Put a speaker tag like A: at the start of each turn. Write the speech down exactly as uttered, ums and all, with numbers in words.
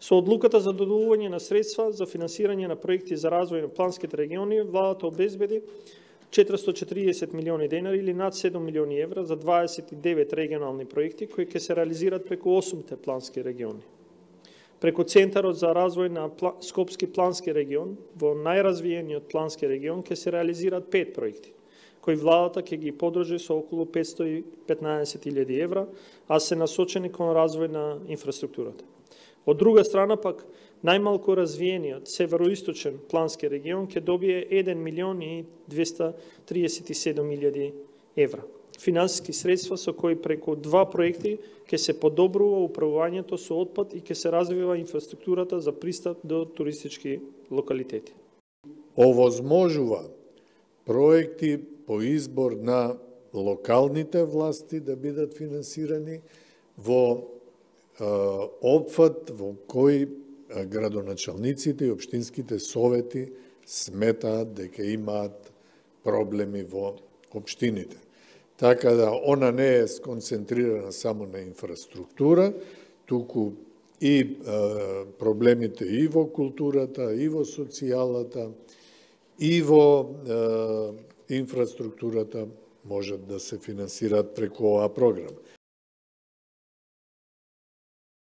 A: Со одлуката за доделување на средства за финансирање на проекти за развој на планските региони, владата обезбеди четиристотини и четиридесет милиони денари или над седум милиони евра за дваесет и девет регионални проекти кои ќе се реализираат преку осумте плански региони. Преку Центарот за развој на Скопски плански регион, во најразвиениот плански регион ќе се реализираат пет проекти, кои владата ќе ги подржи со околу петстотини и петнаесет илјади евра, а се насочени кон развој на инфраструктурата. Од друга страна пак, најмалку развиениот североисточен плански регион ќе добие еден милион и двесте триесет и седум илјади евра. Финансиски средства со кои преку два проекти ќе се подобрува управувањето со отпад и ќе се развива инфраструктурата за пристап до туристички локалитети.
B: Овозможува проекти по избор на локалните власти да бидат финансирани во опфат во кој градоначалниците и општинските совети сметаат дека имаат проблеми во општините. Така да она не е сконцентрирана само на инфраструктура, туку и е, проблемите и во културата, и во социјалата, и во е, инфраструктурата можат да се финансираат преку оваа програма.